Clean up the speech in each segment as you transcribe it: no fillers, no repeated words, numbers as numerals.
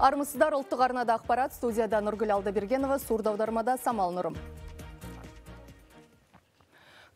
Армысыздар, ұлттық арнада ақпарат, студияда Нұргүл Алдабергенова, сурдаудармада Самал Нұрым.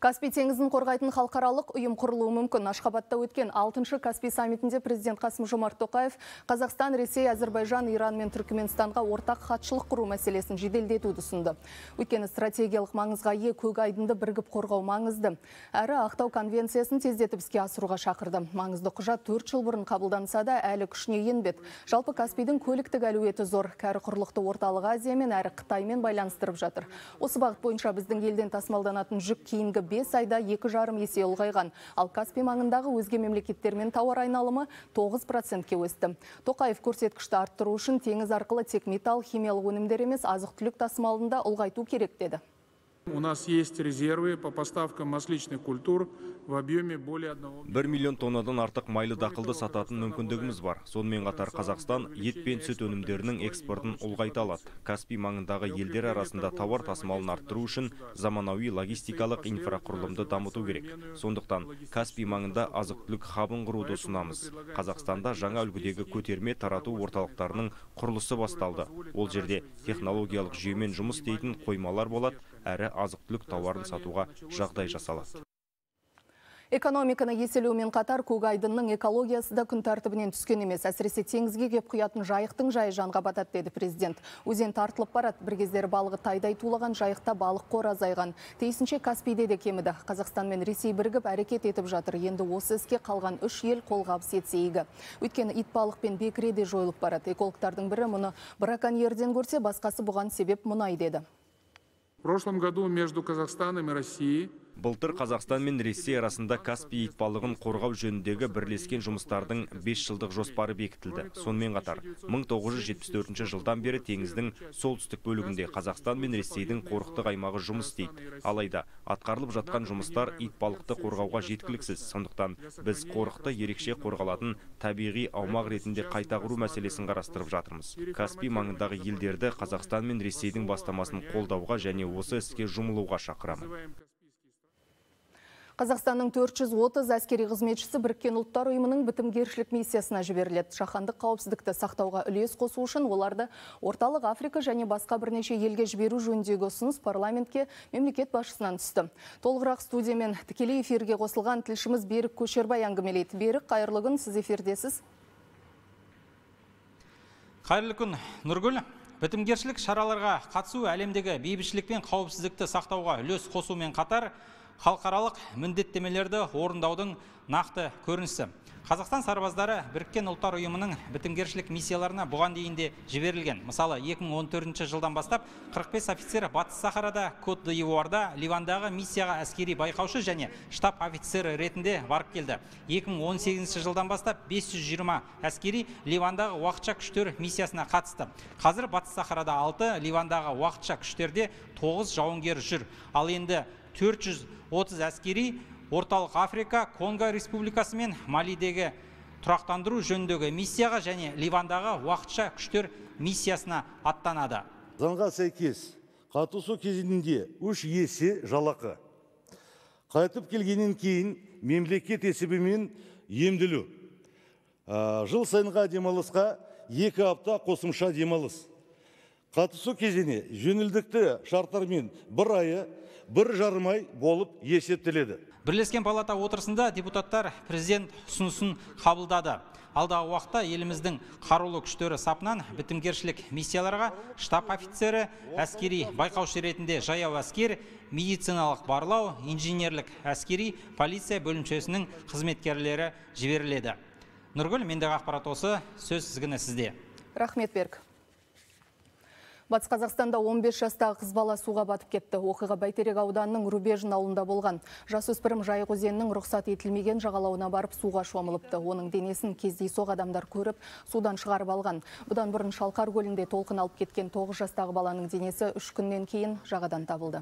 Каспий теңізін қорғайтын халықаралық ұйым құрылуы мүмкін. Ашхабадта өткен 6-шы Каспий саммитінде президент Қасым-Жомарт Тоқаев Қазақстан, Ресей, Әзербайжан, Иран мен Түркіменстанға ортақ хатшылық құру мәселесін жеделдетуді ұсынды. Өйткені стратегиялық маңызға ие көк айдынды бірігіп қорғау маңызды. Әрі Ақтау конвенциясын тездетіп іске асыруға шақырды. Маңызды құжат 4 жыл бұрын қабылданса да әлі күшіне енбеді. Жалпы Каспийдің көліктік әлеуеті зор, кәрі құрлықты Орталық Азия мен әрі Қытаймен байланыстырып жатыр. Осы бағыт бойынша біздің елден тасымалданатын жүк кейінгі 5 айда 2,5 есе ұлғайған. Ал Каспий маңындағы өзге мемлекеттермен тауар айналымы 9%-ке өсті. Тоқаев көрсеткішті арттыру үшін теңіз арқылы тек металл, химиялық өнімдер емес, азық-түлік тасымалында ұлғайту керек деді. У нас есть резервы по поставкам масличных культур в объеме более 1 миллион тоннадан артық майлы дақылды сататын мүмкіндігіміз бар. Сонымен қатар Қазақстан ет пен сүт өнімдерінің экспортын ұлғайта алады. Каспий маңындағы елдер арасында тауар тасымалын арттыру үшін заманауи логистикалық инфрақұрылымды дамыту керек. Сондықтан Каспий маңында азық-түлік хабын құруды ұсынамыз. Қазақстанда жаңа үлгідегі көтерме тарату орталықтарының құрылысы басталды. Ол жерде технологиялық жүйемен жұмыс істейтін қоймалар болады, әрі азық-түлік тауарын сатуға жағдай жасалады. Экономиканы еселеумен қатар көк айдынның экологиясы да күн тәртібінен түскен емес. Әсіресе теңізге кеп құятын жайықтың жайы жанға батады деді президент. Өзен тартылып барады. Бір кездері балығы тайдай тулаған, жайықта балық қор азайған. Тиісінше Каспийде де кеміді. Қазақстан мен Ресей бірігіп әрекет етіп жатыр. Енді осы іске қалған 3 ел қолғабыс етсе игі. Өйткені ит балық пен бекіре де жойылып барады. Экологтардың бірі мұны браконьерден көрсе, басқасы бұған себеп мұнай деді. В прошлом году между Казахстаном и Россией Былтыр Қазақстан мен Ресей арасында Каспий итбалығын қорғау жөніндегі бірлескен жұмыстардың 5 жылдық жоспары бекітілді. Сонымен қатар 1974 жылдан бері теңіздің солтүстік бөлігінде Қазақстан мен Ресейдің қорықтық аймағы жұмыс істейді. Алайда атқарылып жатқан жұмыстар итбалықты қорғауға жеткіліксіз. Сондықтан біз қорықты ерекше қорғалатын табиғи аумақ ретінде қайта құру мәселесін қарастырып жатырмыз. Каспий маңындағы елдерді Қазақстан мен Ресейдің бастамасын қолдауға және осы іске жұмылуға шақырамын. Қазақстанның 430 әскери қызметшісі Біріккен ұлттар ұйымының бітімгершілік миссиясына жіберіледі. Жаһандық қауіпсіздікті сақтауға үлес қосу үшін оларды Орталық Африка және басқа бірнеше елге жіберу жөніндегі ұсыныс парламентке мемлекет басшысынан түсті. Толығырақ студиямен тікелей эфирге қосылған тілшіміз Берік Көшербай әңгімелейді. Берік, қайырлы күн, сіз эфирдесіз. Қайырлы күн, Нұргүл. Бітімгершілік шараларға қатысу әлемдегі бейбітшілік пен қауіпсіздікті сақтауға үлес қосумен қатар халықаралық міндеттемелерді орындаудың нақты көрінісі. Қазақстан сарбаздары Біріккен ұлттар ұйымының бітімгершілік миссияларына бұған дейінде жіберілген. Мысалы, 2014 жылдан бастап 45 офицер Батыс Сахарада, Кот-д'Ивуарда, Ливандағы миссияға әскери байқаушы және штаб офицері ретінде барып келді. 2018 жылдан бастап 520 әскери Ливандағы уақытша күштер миссиясына қатысты. Қазір Батыс Сахарада 6, Ливандағы уақытша күштерде 9 жауынгер жүр. Ал енді 430 әскери Орталық Африка, Конго Республикасы мен Малидегі тұрақтандыру жөніндегі миссияға және Ливандағы уақытша күштер миссиясына аттанады. Заңға сәйкес қатысу кезеңінде 3 есе жалақы. Қайтып келгеннен кейін мемлекет есебімен емделу. Жыл сайынға демалысқа 2 апта қосымша демалыс. Қатысу кезеңі жөнілдікті шарттармен 1 айы 1,5 ай болып есептеледі. Бірлескен палата отырысында депутаттар президент ұсынысын қабылдады. Алдағы уақытта еліміздің қарулы күштері сапынан бітімгершілік миссияларға штаб офицері, әскери байқаушы ретінде жаяу әскер, медициналық барлау, инженерлік әскери полиция бөлімшесінің қызметкерлері жіберіледі. Нұргүл, мендегі ақпарат осы, сөз тізгіні сізде. Рахмет, Берік. Батыс Қазақстанда 15 жастағы қыз бала суға батып кетті. Оқиға Бәйтерек ауданының Рубежін ауылында болған. Жасөспірім Жайық өзенінің рұқсат етілмеген жағалауына барып суға шомылыпты. Оның денесін кездейсоқ адамдар көріп, судан шығарып алған. Бұдан бұрын Шалқар көлінде толқын алып кеткен 9 жастағы баланың денесі 3 күннен кейін жағадан табылды.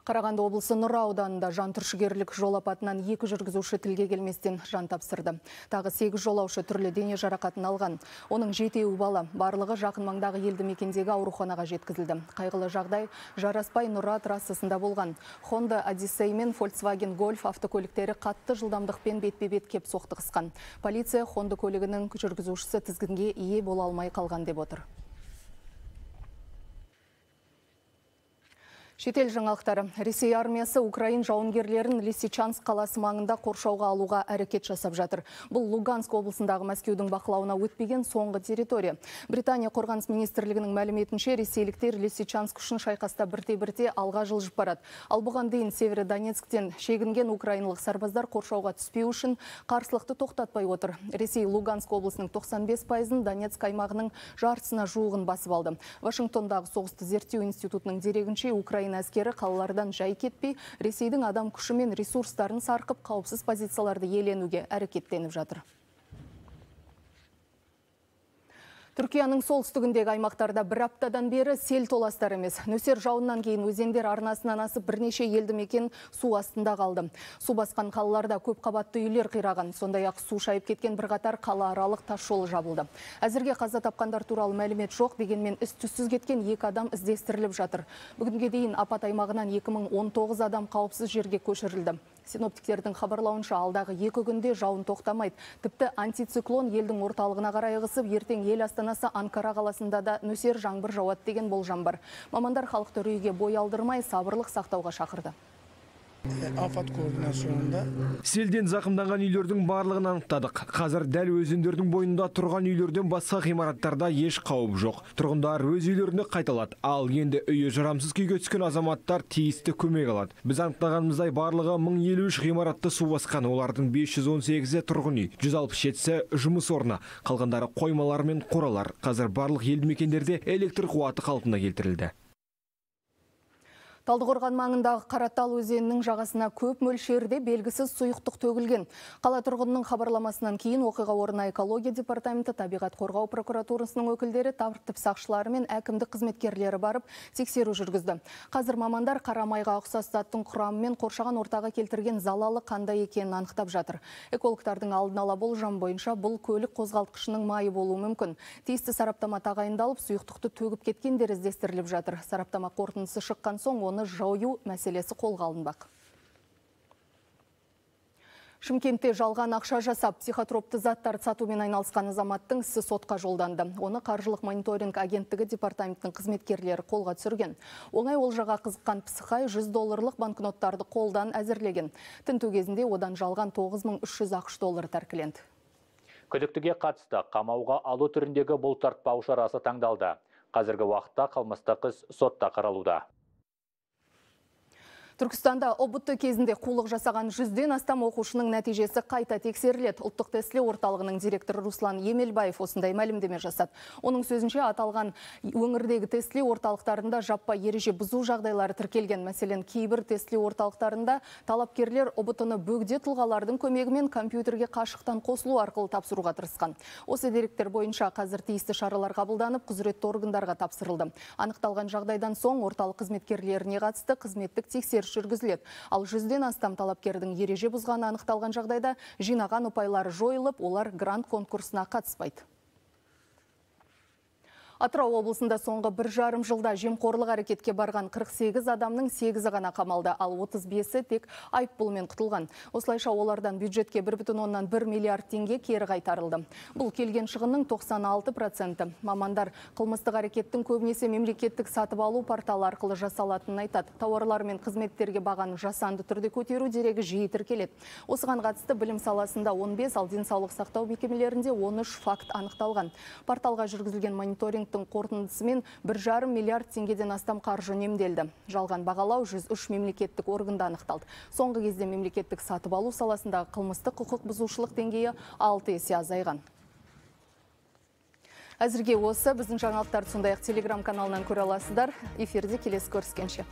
Қарағанды облысы Нұра ауданында жантүршігерлік жол апатынан 2 жүргізуші тілге келместен жан тапсырды. Тағы 8 жолаушы түрлі дене жарақатын алған. Оның 7-еуі бала, барлығы жақын маңдағы елді мекендегі ауруханаға жеткізілді. Қайғылы жағдай Жараспай Нұра трассасында болған. Honda Odyssey мен Volkswagen Golf автокөліктері қатты жылдамдықпен бетпе-бет кеп соқтығысқан. Полиция Honda көлігінің жүргізушісі тізгінге ие бола алмай қалған деп отыр. Шетел жаңалықтары. Ресей армиясы Украин жауынгерлерін Лисичанск қаласы маңында қоршауға алуға әрекет жасап жатыр. Бұл Луганск облысындағы Мәскеудің бақылауына өтпеген соңғы территория. Британия қорғаныс министрлігінің мәліметінше, ресейліктер Лисичанск үшін шайқаста бірте-бірте алға жылжып барады. Ал бұған дейін Северодонецктен шегінген украиналық сарбаздар қоршауға түспеу үшін қарсылықты тоқтатпай отыр. Ресей Луганск облысының 95%-ын, Донецк аймағының жартысына жуығын басып алды. Вашингтондағы соғысты зерттеу институтының дерегінше, Украина әскері қалалардан жай кетпей, Ресейдің адам күші мен ресурстарын сарқып, қауіпсіз позицияларды иеленуге әрекеттеніп жатыр. Түркияның солтүстігіндегі аймақтарда бір аптадан бері сел толастар емес. Нөсер жауыннан кейін өзендер арнасынан асып бірнеше елді мекен су астында қалды. Су басқан қалаларда көп қабатты үйлер қираған. Сондай-ақ су шайып кеткен бірқатар қалааралық тас жол жабылды. Әзірге қаза тапқандар туралы мәлімет жоқ, дегенмен із-түссіз кеткен 2 адам іздестіріліп жатыр. Бүгінге дейін апат аймағынан 2019 адам қауіпсіз жерге көшірілді. Синоптиктердің хабарлауынша алдағы 2 күнде жауын тоқтамайды. Тіпті антициклон елдің орталығына қарай ығысып, ертең ел астанасы Анкара қаласында да нөсер жаңбыр жауады деген болжам бар. Мамандар халықты үрейге бой алдырмай, сабырлық сақтауға шақырды. Афат координацияларында селден зақымданған үйлердің барлығын анықтадық. Қазір дәл өзендердің бойында тұрған үйлерден басқа ғимараттарда еш қауіп жоқ. Тұрғындар өз үйлеріне қайталады. Ал енді үйі жарамсыз күйге түскен азаматтар тиісті көмек алады. Біз анықтағанымыздай барлығы 1053 ғимаратты су басқан. Олардың 518-і тұрғын үй, 167-сі жұмыс орны, қалғандары қоймалар мен қоралар. Қазір барлық елді мекендерде электр қуаты қалпына келтірілді. Талдықорған маңындағы Қаратал өзенінің жағасына көп мөлшерде белгісіз сұйықтық төгілген. Қала тұрғынының хабарламасынан кейін оқиға орнына экология департаменті, табиғат қорғау прокуратурасының өкілдері, тәртіп сақшылары мен әкімдік қызметкерлері барып тексеру жүргізді. Қазір мамандар қарамайға ұқсас заттың құрамы мен қоршаған ортаға келтірген залалы қандай екенін анықтап жатыр. Экологтардың алдын ала болжам бойынша бұл көлік қозғалтқышының майы болуы мүмкін. Тиісті сараптама тағайындалып, сұйықтықты төгіп кеткендер іздестіріліп жатыр. Сараптама қорытындысы шыққан соң оны жою мәселесі қолға алынбақ. Шымкентте жалған ақша жасап, психотропты заттар сатумен айналысқан азаматтың ісі сотқа жолданды. Оны қаржылық мониторинг агенттігі департаментінің қызметкерлері қолға түсірген. Оңай олжаға қызыққан психай $100 банкноттарды қолдан әзірлеген. Тінту кезінде одан жалған $9300 тәркіленді. Күдіктіге қатысты қамауға алу түріндегі бұлтартпау шарасы таңдалды. Қазіргі уақытта қылмыстық іс сотта қаралуда. Түркістанда ОБТ кезінде қулық жасаған 100-ден астам оқушының нәтижесі қайта тексеріледі. Ұлттық тестілеу орталығының директоры Руслан Емелбаев осындай мәлімдеме жасады. Оның сөзінше аталған өңірдегі тестілеу орталықтарында жаппай ереже бұзу жағдайлары тіркелген. Мәселен, кейбір тестілеу орталықтарында талапкерлер ОБТ-ны бөгде тұлғалардың көмегімен компьютерге қашықтан қосылу арқылы тапсыруға тырысқан. Осы деректер бойынша қазір тиісті шаралар қабылданып, құзыретті органдарға тапсырылды. Анықталған жағдайдан соң орталық қызметкерлеріне қатысты қызметтік тексеріс жүргізіледі. Ал 100-ден астам талапкердің ереже бұзғаны анықталған жағдайда жинаған ұпайлары жойылып, олар грант конкурсына қатыспайды. Атырау облысында соңғы 1,5 жылда жемқорлық әрекетке барған 48 адамның 8-і ғана қамалды, ал 35-і тек айыппұлмен құтылған. Осылайша олардан бюджетке 1,1 миллиард теңге кері қайтарылды. Бұл келген шығынның 96%. Мамандар қылмыстық әрекеттің көбінесе мемлекеттік сатып алу порталы арқылы жасалатынын айтады. Тауарлар мен қызметтерге бағаны жасанды түрде көтеру дерегі жиі тіркеледі. Осыған қатысты білім саласында 15, ал денсаулық сақтау мекемелерінде 13 факт анықталған. Порталға жүргізілген мониторинг қорытындысымен 1,5 миллиард теңгеден астам қаржы үнемделді. Жалған бағалау 103 мемлекеттік органда анықталды. Соңғы кезде мемлекеттік сатып алу саласындағы қылмыстық құқық бұзушылық деңгейі 6 есе азайған. Әзірге осы біздің жаңалықтарды сондай-ақ телеграм каналынан көре аласыздар. Эфирде келесі көріскенше.